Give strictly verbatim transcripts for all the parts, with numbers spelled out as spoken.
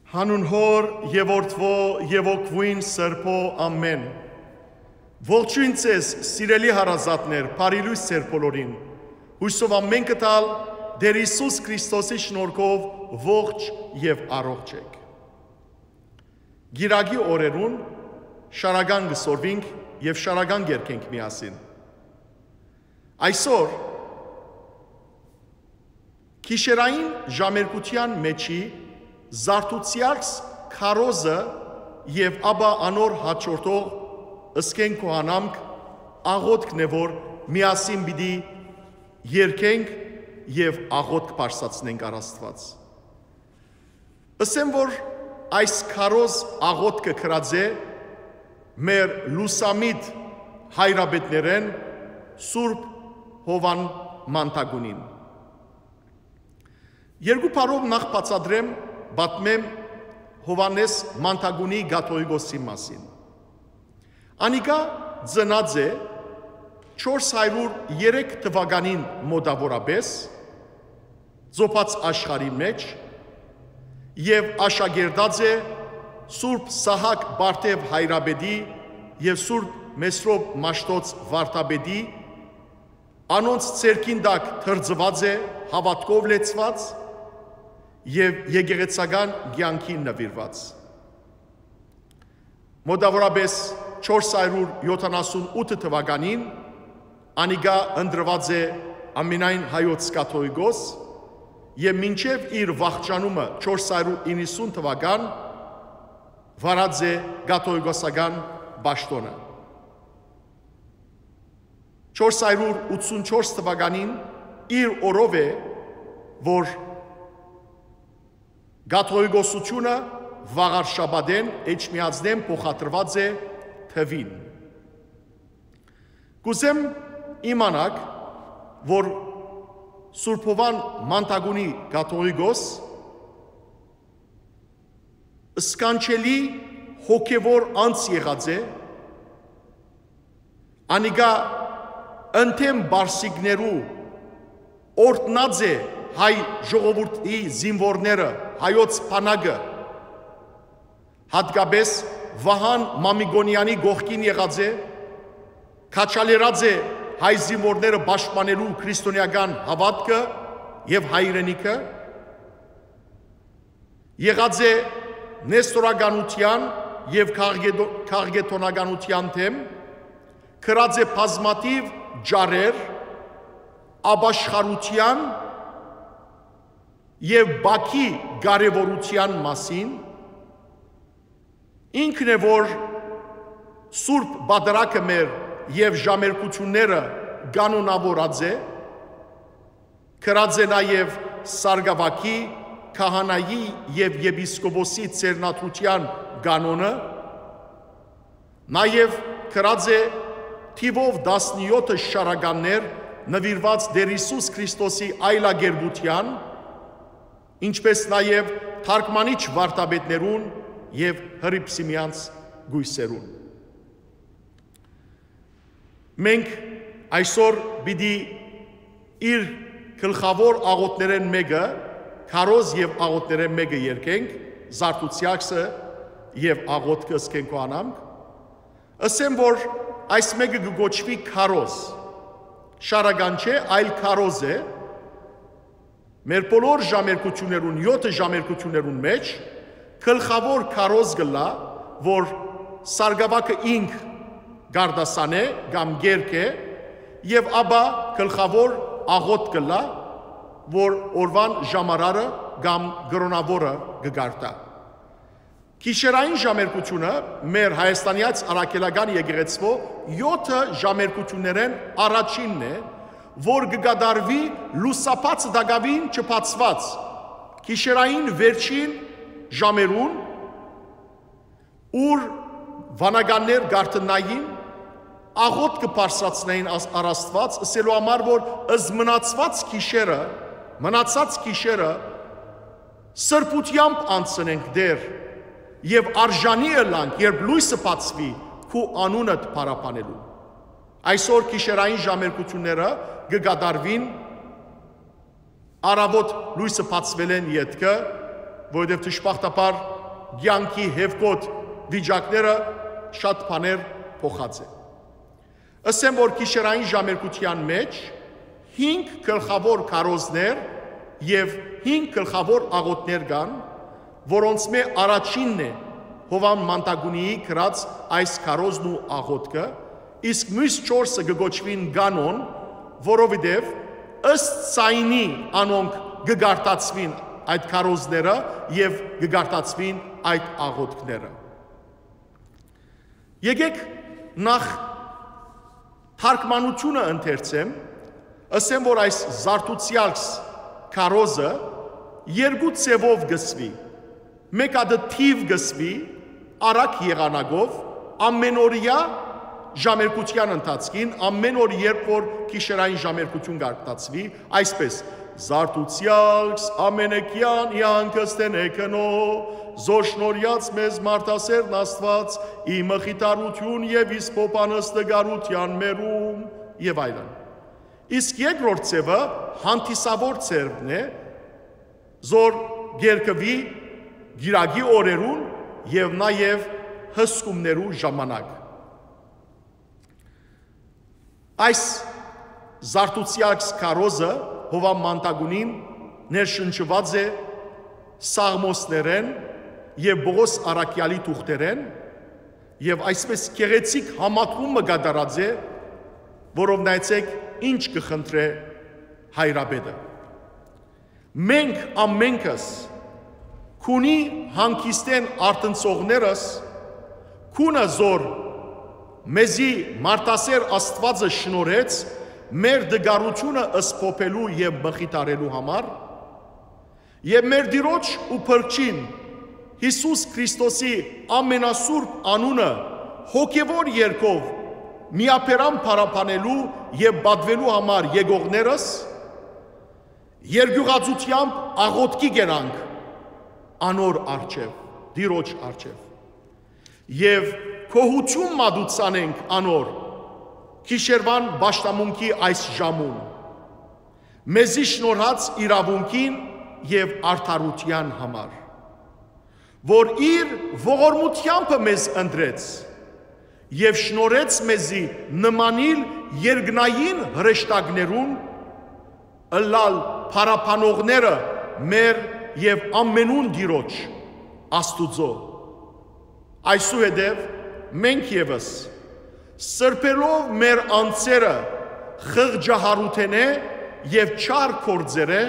Հանուն Հօր եւ Որդւոյ եւ Հոգւոյն Սրբոյ, ամէն։ Ողջոյն ձեզ, սիրելի հարազատներ, բարի լոյս ձեր բոլորին։ Յուսով ամէն կտալ Տէր Յիսուս Քրիստոսի շնորհքով ողջ եւ առողջ եք։ Կիրակի օրերուն շարական կը սորվինք եւ շարական կերկենք միասին։ Այսօր գիշերային ժամերգութեան մէջի Զարդուցեալս քարոզը եւ ապա անոր հաջորդող Ըսկեն քուհանամք աղօթքն է, որ միասին պիտի երգենք եւ աղօթք բարձրացնենք առ Աստուած։ Ըսեմ, որ այս քարոզ աղօթքը գրած է մեր լուսամիտ հայրապետներէն Սուրբ Հովան Մանթագունին։ Երկու բառով նախ բացատրեմ, պատմեմ Հովհաննէս Մանթագունի կաթողիկոսի մասին։ Անիկա ծնած է չորս հարիւր երեք թուականին մօտաւորապէս Ծոփած աշխարհի մէջ եւ աշակերտած է Սուրբ Սահակ Պարթեւ հայրապետի եւ Սուրբ Մեսրոպ Մաշտոց վարդապետի, անոնց ձեռքին տակ թրծուած է, հաւատքով լեցուած եւ եկեղեցական կեանքին նուիրուած։ Մօտաւորապէս չորս հարիւր յոթանասուն ութ թուականին անիկա ընտրուած է ամենայն հայոց կաթողիկոս եւ մինչեւ իր վախճանումը չորս հարիւր իննսուն թուական վարած է կաթողիկոսական պաշտօնը։ Չորս հարիւր ութսուն չորս թուականին իր օրով է, որ կաթողիկոսութիւնը վաղարշաբաթէն, Էջմիածնէն փոխադրուած է թուին։ Կ'ուզեմ իմանաք, որ Սուրբ Հովան Մանթագունի կաթողիկոս սքանչելի հոգեւոր անձ եղած է, անիկա ընդդեմ պարսիկներու օրհնած է հայ ժողովուրդի զինուորները, հայոց բանակը, հատկապէս Վահան Մամիկոնեանի կողքին եղած է, քաջալերած է հայ զինուորները պաշտպանելու քրիստոնէական հաւատքը եւ հայրենիքը, եղած է նեստորականութեան եւ քաղկեդո-, քաղկեդոնականութեան դէմ, գրած է բազմաթիւ ճառեր ապաշխարութեան եւ Բաքի կարեւորութեան մասին, ինքն է, որ Սուրբ Պատարագը մեր եւ ժամերգութիւնները կանոնաւորած է, գրած է նաեւ Սարգսակի, քահանայի եւ եպիսկոպոսի ձեռնադրութեան կանոնը, նաեւ գրած է թիւով տասնեօթը շարականներ նուիրուած Տէր Յիսուս Քրիստոսի այլակերպութեան, ինչպէս նաեւ թարգմանիչ վարդապետներուն եւ հռիփսիմեանց կոյսերուն։ Մենք այսօր պիտի իր գլխաւոր աղօթներէն մէկը, քարոզ եւ աղօթներէն մէկը երգենք, Զարդուցեալսը եւ աղօթքը Ըսկեն քուհանամք։ Ըսեմ, որ այս մէկը կը կոչուի քարոզ։ Շարական չէ, այլ քարոզ է։ Մեր բոլոր ժամերգութիւններուն, եօթը ժամերգութիւններուն մէջ գլխաւոր քարոզ կ'ըլլայ, որ Սարգսակը ինք կ'արտասանէ կամ կերգէ, եւ ապա գլխաւոր աղօթք կ'ըլլայ, որ օրուան ժամարարը կամ կրօնաւորը կը կարդայ։ Գիշերային ժամերգութիւնը մեր Հայաստանեաց Առաքելական Եկեղեցւոյ եօթը ժամերգութիւններէն առաջինն է, որ կը կատարուի լուսաբացը տակաւին չբացուած, գիշերային վերջին ժամերուն, ուր վանականներ կարդնային, աղօթքը բարձրացնային աս-, առ Աստուած, ըսելու համար, որ զմնացուած գիշերը, մնացած գիշերը սրբութեամբ անցնենք Տէր, եւ արժանի ըլանք, երբ լոյսը բացուի, քու անունդ փառաբանելու։ Այսօր գիշերային ժամերգութիւնները կը կատարուին առաւօտ լոյսը բացուելէն ետքը, որովհետեւ դժբախտաբար կեանքի հեւկոտ վիճակները շատ բաներ փոխած է։ Ըսեմ, որ գիշերային ժամերգութեան մէջ հինգ գլխաւոր քարոզներ եւ հինգ գլխաւոր աղօթքներ կան, որոնցմէ առաջինն է Յովհան Մանտագունիի գրած այս քարոզն ու աղօթքը, իսկ միւս չորսը կը կոչուին կանոն, որովհետեւ ըստ ձայնի անոնք կը կարդացուին այդ քարոզները եւ կը կարդացուին այդ աղօթքները։ Եկեք նախ թարգմանութիւնը ընթերցեմ, ըսեմ, որ այս Զարդուցեալքս քարոզը երկու ձեւով կը սուի։ Մէկ ատը թիւ կը սուի, արագ եղանակով, ամենօրեայ ժամերգութեան ընթացքին, ամեն օր, երբ որ գիշերային ժամերգութիւն կարգնացուի, այսպես. «Զարդուցեալքս ամենեքեան իանքս թէ նեքնո, զոր շնորհած մեզ մարդասերն Աստուած, ի մխիթարութիուն եւ իսկ փոփանս տգարութեան մերում», եւ այլն։ Իսկ երկրորդ ձևը հանդիսավոր ձևն է, զոր կերկուի կիրակի օրերուն եւ նաեւ հսկումներու ժամանակ։ Այս Զարդուցեալքս քարոզը Յովհան Մանտագունին ներշնչուած է Սաղմոսներէն եւ Պողոս առաքեալի թուղթերէն, եւ այսպես գեղեցիկ համադրում մը կատարած է, որով նայեցեք ինչ կը խնդրէ հայրապետը։ «Մենք ամենքս, քունի հանգիստէն արթնցողներս, քունը, զոր մեզի մարդասեր Աստուածը շնորհեց մեր տգարութիւնը սփոփելու եւ մխիթարելու համար, եւ մեր Տիրոջ ու Փրկչին Յիսուս Քրիստոսի ամենասուրբ անունը հոգեւոր երգով միաբերան փառաբանելու եւ պատուելու համար եկողներս, երկիւղածութեամբ աղօթքի կերանք անոր առջեւ, Տիրոջ առջեւ, եւ գոհութիւն մատուցանենք անոր գիշերուան պաշտամունքի այս ժամուն, մեզի շնորհած իրաւունքին եւ արդարութեան համար, որ իր ողորմութեամբը մեզ ընտրեց եւ շնորհեց մեզի նմանիլ երկնային հրեշտակներուն, ըլլալ փառաբանողները մեր եւ ամենուն Տիրոջ, Աստուծոյ։ Այսուհետեւ մենք եւս, սրբելով մեր անձերը խղճահարութենէ եւ չար գործերէ,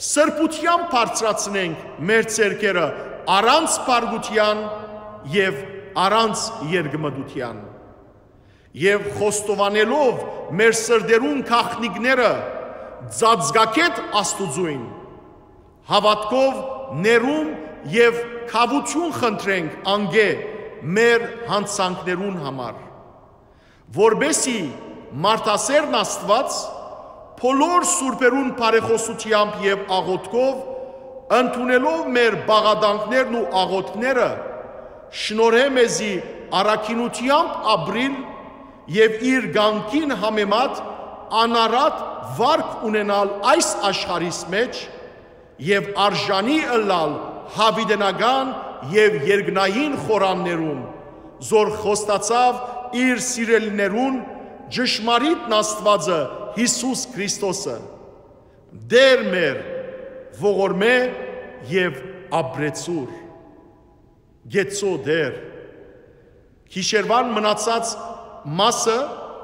սրբութեամբ բարձրացնենք մեր ձեռքերը առանց փառքութեան եւ առանց երկմտութեան, եւ խոստովանելով մեր սրտերուն գաղտնիքները ծածկագէտ Աստուծոյն, հաւատքով ներում եւ քաւութիւն խնդրենք անկէ մեր յանցանքներուն համար, որպէսզի մարդասերն Աստուած բոլոր սուրբերուն բարեխօսութեամբ եւ աղօթքով, ընդունելով մեր պաղատանքներն ու աղօթքները, շնորհէ մեզի առաքինութեամբ ապրիլ եւ իր կամքին համեմատ անարատ վարք ունենալ այս աշխարհիս մէջ եւ արժանի ըլլալ յաւիտենական եւ երկնային խորաններուն, զոր խոստացաւ իր սիրելիներուն ճշմարիտ Աստուածը Յիսուս Քրիստոսը, Տէր մեր, ողորմէ եւ ապրեցուր։ Գեցո Տէր։ Գիշերուան մնացած մասը,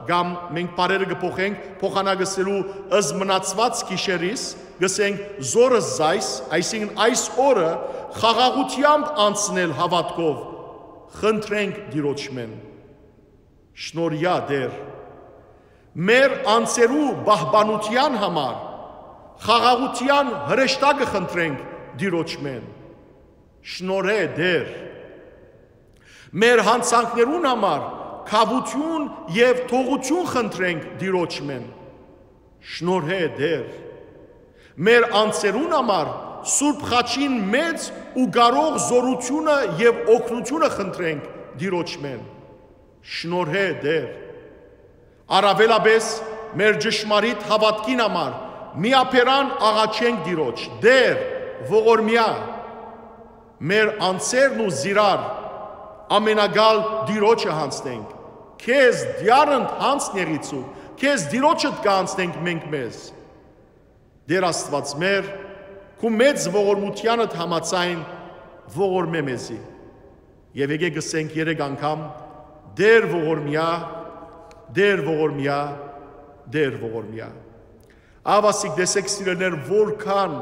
կամ մենք բառերը կը փոխենք, փոխանակելու ըս մնացված գիշերիս, կսենք զորս զայս, այսինքն այս օրը խաղաղութեամբ անցնել հաւատքով, խնդրենք Տիրոջմէն։ Շնորհեա Տէր։ Մեր անձերու պահպանութեան համար խաղաղութեան հրեշտակը խնդրենք Տիրոջմէն։ Շնորհէ Տէր։ Մեր յանցանքներուն համար քաւութիւն եւ թողութիւն խնդրենք Տիրոջմէն։ Շնորհէ Տէր։ Մեր անձերուն համար Սուրբ Խաչին մեծ ու կարող զորութիւնը եւ օգնութիւնը խնդրենք Տիրոջմէն։ Շնորհէ Տէր։ Առաւելապէս մեր ճշմարիտ հաւատքին համար միաբերան աղաչենք Տիրոջ. Տէր, ողորմեա, մեր անձերն ու զիրար ամենակալ Տիրոջը յանձնենք, քեզ դիարընդ յանձն եղիցու, քեզ Տիրոջդ կանձնենք մենք մեզ, Տեր Աստուած մեր, քու մեծ ողորմութեանդ համաձայն ողորմէ մեզի։ Եւ եկեք ըսենք երեք անգամ. «Տեր ողորմեա, Տեր ողորմեա, Տեր ողորմեա»։ Ահա ասիկ, տեսեք, սիրելիներ, որքան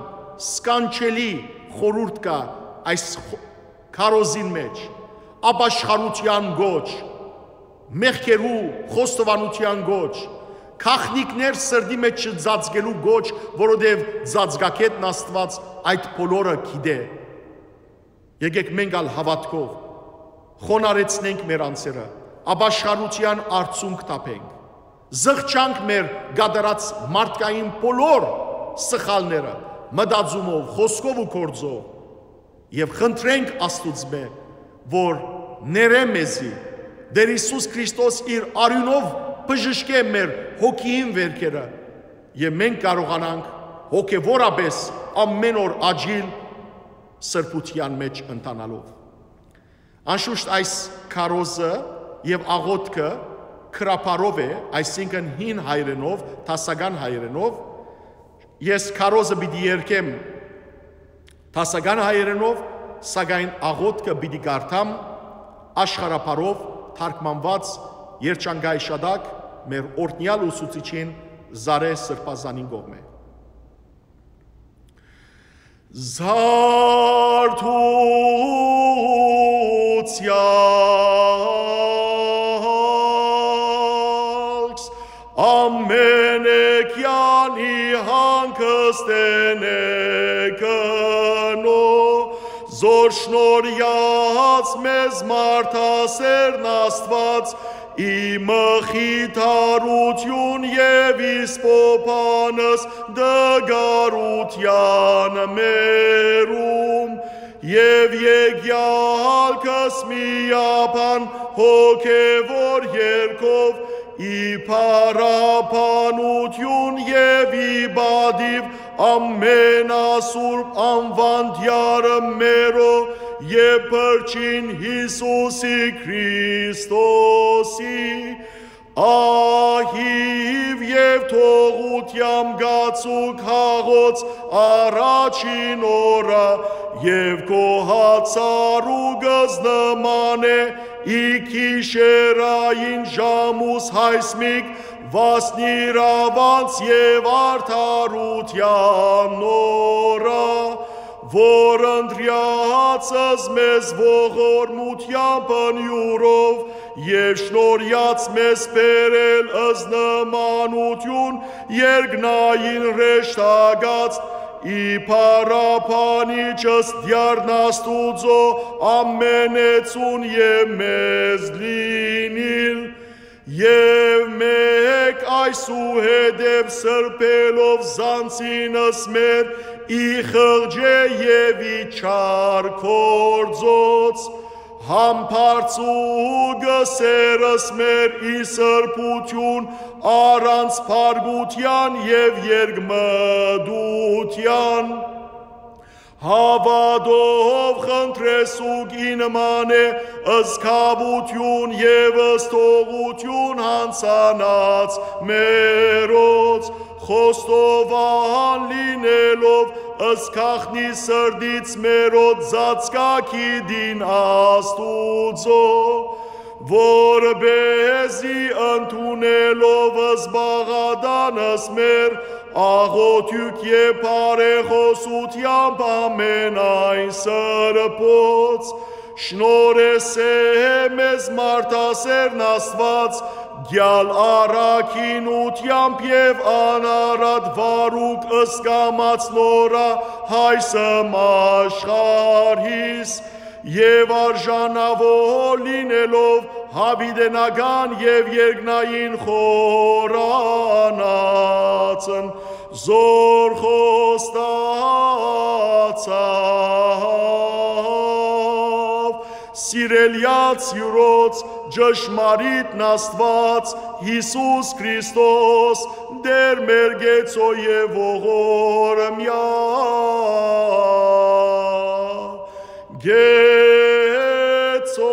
սքանչելի խորհուրդ կայ այս խ-, քարոզին մէջ. ապաշխարութեան կոչ, մեղքերու խոստովանութեան կոչ, գաղտնիքներ սրտի մէջ չծածկելու կոչ, որովհետեւ ծածկագետն Աստուած այդ բոլորը գիտէ։ Եկեք մենք ալ հաւատքով խոնարհեցնենք մեր անձերը, ապաշխարութեան արդիւնք թափենք, զղջանք մեր կատարած մարդկային բոլոր սխալները, մտածումով, խօսքով ու գործով, եւ խնդրենք Աստուծմէ, որ ներէ մեզի, Տեր Յիսուս Քրիստոս իր արիւնով բժշկէ մեր հոգիին վերքերը, եւ մենք կարողանանք հոգեվորապէս ամէն օր աճիլ սրբութեան մէջ ընթանալով։ Անշուշտ այս քարոզը եւ աղօթքը գրաբարով է, այսինքն՝ հին հայերէնով, դասական հայերէնով։ Ես քարոզը պիտի երգեմ դասական հայերէնով, սակայն աղօթքը պիտի կարդամ աշխարհաբարով թարգմանուած երջանկայ շատակ մեր օրհնեալ ուսուցիչին Զարէ Սրբազանին կողմէ։ Զարթուցեալքս, ամէնէկեան ի հանգստէն է գնոյ, զոր շնորհեաց մեզ մարդասերն Աստուած, ի մխիթարութիւն եւ իսպոփանս տկարութեան մերում, եւ եկեալքս միաբան հոգեւոր երկով, ի փառաբանութիւն եւ ի պատիւ ամենասուրբ անվան Տեարը մերոյ եւ Փրկչին Յիսուսի Քրիստոսի, ահիւ եւ թողութեան գացուկ հաղոց առաջին օրը, եւ գոհացարուկս նման է, ի գիշերային ժամուս յայսմիկ վասնիրաւանց եւ արդարութեան օրը, որ ընտրեալցս մեզ ողորմութեան բնիուրով եւ շնորհեաց մեզ բերել ըսնմանութիւն երկնային հրեշտակաց, ի փառաբանիչս Տեարն Աստուծոյ ամենեցուն եւ մեզ լինիլ, եւ մէկ այսուհետեւ սրբելով զանցինս մեր, ի խղճէ եւ ի չար գործոց, համբարձուկը սերս մեր, ի սրբութիւն, առանց փառքութեան եւ երկմտութեան, հաւատով խնդրեսուկ ի նման է զգաւութիւն եւ զթողութիւն յանցանած մերոց, խոստովան լինելով զգաղտնի սրտից մերոց ծածկագիտին Աստուծոյ, որպէզի ընդունելով զբաղատանս մեր, աղօթիւք եւ բարեխօսութեամբ ամենայն սրբոց, շնորհեսէ մեզ մարդասերն Աստուած, գյալ առաքինութեամբ եւ անարատ վարուկ ըսկամած նորա հայսմ աշխարհիս, եւ արժանաւոր լինելով յաւիտենական եւ երկնային խորանացն, զոր խոստացաւ սիրելեաց յուրոց ճշմարիտն Աստուած, Յիսուս Քրիստոս, Տէր մեր գեցոյ եւ ողորմեա։ Գեցո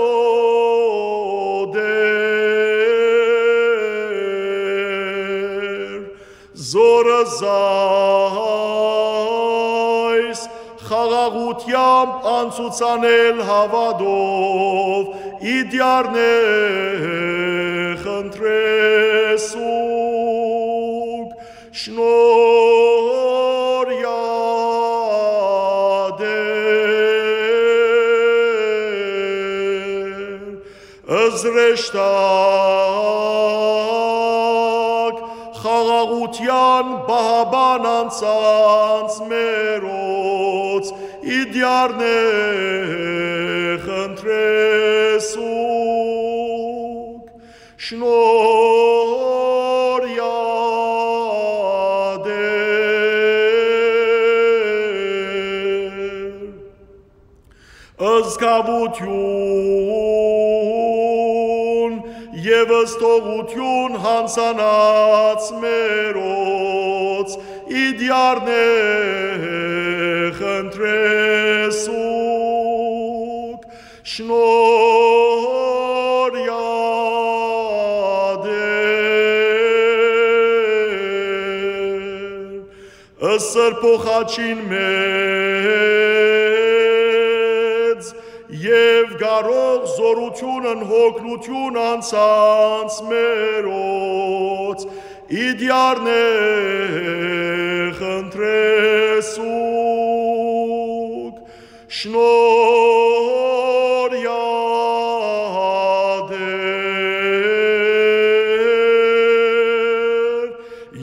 Տէր, զորս այս խաղաղութեամբ անցուցանել հաւատով, իդեալներ խնդրեսուք, շնորհ Տէր, զրեշտակ խաղաղութեան պահապան անձանց մերոց, իդեալներ խնդրեսուք, շնորհ Տէր, զգաւութիւն եւ զթողութիւն յանձնած մերոց, իդեալներ խնդրեսուք, շնորհ Տէր, Սրբոյ խաչին մեծ եւ կարող զօրութիւնն հոգնութիւն անձանց մերոց, իդեալներ խնդրեսուք, շնորհ Տէր,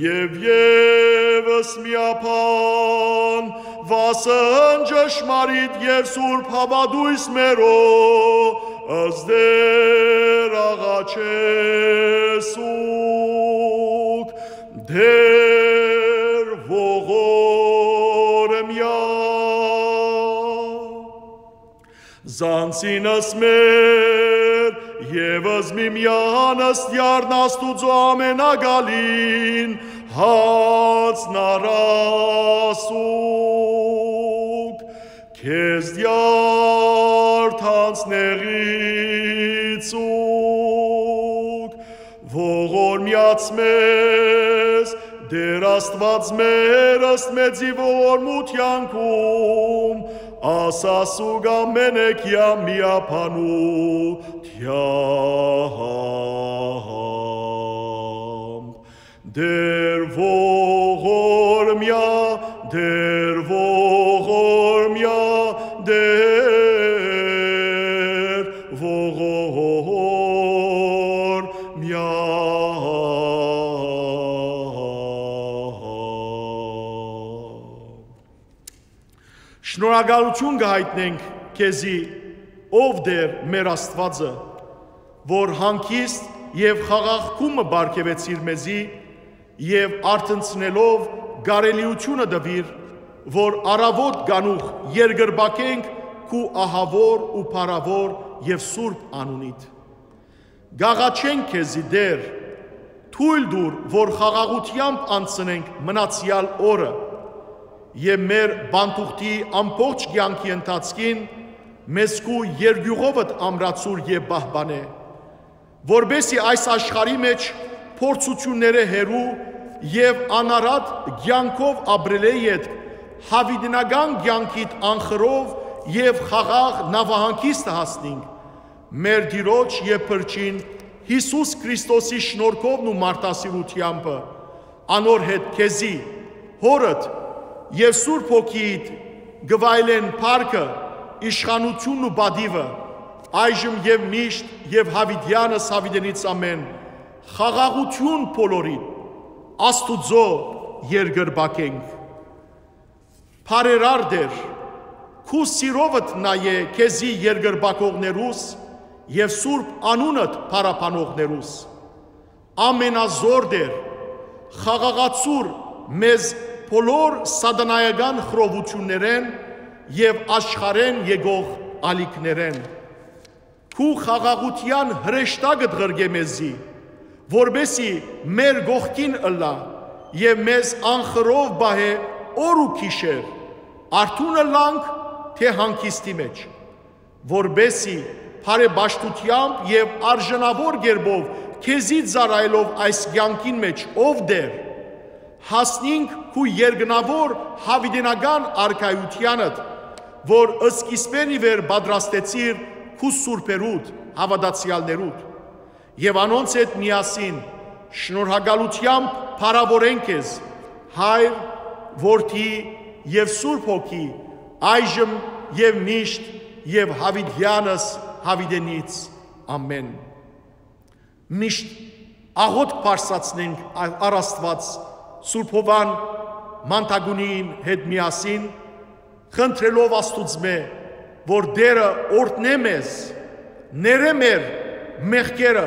եւ եւս միաբան վասն ճշմարիտ եւ սուրբ հաւատոյս մերոց, Տէր, աղաչեսուք, Տէր ողորմեա, զանցինս մեր եւս միմեանց դիարն Աստուծոյ ամենակալին յանձնարարեսուք, քեզ դիար յանձնեցուք, ողորմեաց մեզ, Տէր Աստուած մեր, ըստ մեծին ողորմութեանքուն, ասասուք ամէնէկեան միաբանութեամբ. Տէր ողորմեա, Տէր ողորմեա, Տէր ողորմեա։ Շնորհակալութիւն կը յայտնենք քեզի, ով Տէր մեր Աստուածը, որ հանգիստ եւ խաղաղ գում մը պարգեւեցիր մեզի եւ արթնցնելով կարելիութիւնը տուիր, որ առաւօտ կանուխ երկրպագենք քու ահաւոր ու փառաւոր եւ սուրբ անունիդ։ Կ'աղաչենք քեզի, Տէր, թոյլ տուր, որ խաղաղութեամբ անցնենք մնացեալ օրը եւ մեր պանթուղթի ամբողջ կեանքի ընթացքին մեզ քու երկիւղովդ ամրացուր եւ պահպանէ, որպէսզի այս աշխարհի մէջ փորձութիւններէ հեռու եւ անարատ կեանքով ապրելէ ետք յաւիտենական կեանքիդ անխռով եւ խաղաղ նաւահանգիստը հասնինք, մեր Տիրոջ եւ Փրկին Յիսուս Քրիստոսի շնորհքովն ու մարդասիրութեամբը, անոր հետ քեզի, Հօրդ եւ Սուրբ Հոգիիդ կը վայելեն փառքը, իշխանութիւնն ու պատիւը, այժմ եւ միշտ եւ յաւիտեանս յաւիտենից ամէն, խաղաղութիւն բոլորիդ, Աստուծոյ երկրպագենք։ Բարերար Տէր, քու սիրովդ նայէ քեզի երկրպագողներուս եւ սուրբ անունդ փառաբանողներուս։ Ամենազօր Տէր, խաղաղացուր մեզ բոլոր սատանայական խռովութիւններէն եւ աշխարհէն եկող ալիքներէն։ Քու խաղաղութեան հրեշտակդ ղրկէ մեզի, որպէսզի մեր կողքին ըլլայ եւ մեզ անխռով պահէ օր ու գիշեր, արթո՞ւն ըլլանք, թէ՞ հանգիստի մէջ։ որպէսզի բարեպաշտութեամբ եւ արժանաւոր կերպով քեզի ծառայելով այս կեանքին մէջ, ով Տէր, հասնինք քու երկնաւոր յաւիտենական արքայութեանդ, որ սկիզբէն ի վեր պատրաստեցիր քու սուրբերուդ, հաւատացեալներուդ, եւ անոնց հետ միասին շնորհակալութեամբ փառաւորենք քեզ, Հայր, Որդի եւ Սուրբ Հոգի, այժմ եւ միշտ եւ յաւիտեանս յաւիտենից։ Ամէն։ Միշտ աղօթք բարձրացնենք առ Աստուած Սուրբ Յովհան Մանդակունին հետ միասին, խնդրելով Աստուծմէ, որ Տէրը օրհնէ մեզ, ներէ մեր մեղքերը,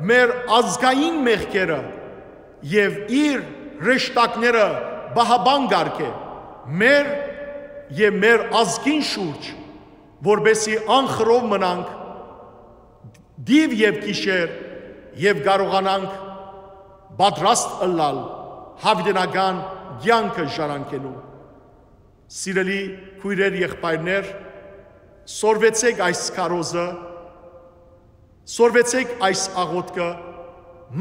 մեր ազգային մեղքերը եւ իր հրեշտակները պահապան կ'արգէ մեր եւ մեր ազգին շուրջ, որպէսզի անխռով մնանք դիւ եւ գիշեր եւ կարողանանք պատրաստ ըլլալ յաւիտենական կեանքը ժառանգելու։ Սիրելի քոյրեր, եղբայրներ, սորվեցէք այս քարոզը, սորվեցէք այս աղօթքը,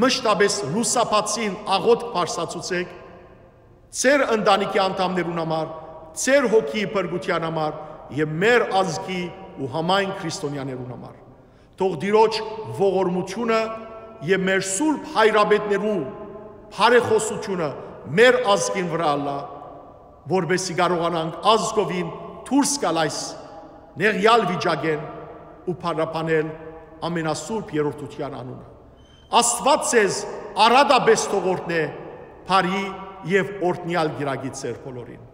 մշտապէս լուսաբացին աղօթք բարձրացուցէք ձեր ընտանիքի անդամներուն համար, ձեր հոգիի փրկութեան համար եւ մեր ազգի ու համայն քրիստոնեաներուն համար։ Թող Տիրոջ ողորմութիւնը եւ մեր սուրբ հայրապետներու բարեխօսութիւնը մեր ազգին վրայ ըլլայ, որպէսզի կարողանանք ազգովին դուրս գալ այս նեղեալ վիճակէն ու փառաբանել ամենասուրբ երրորդութեան անունը։ Աստուած ձեզ առատապէս թող օրհնէ բարի եւ օրհնեալ կիրակի ձեր բոլորին։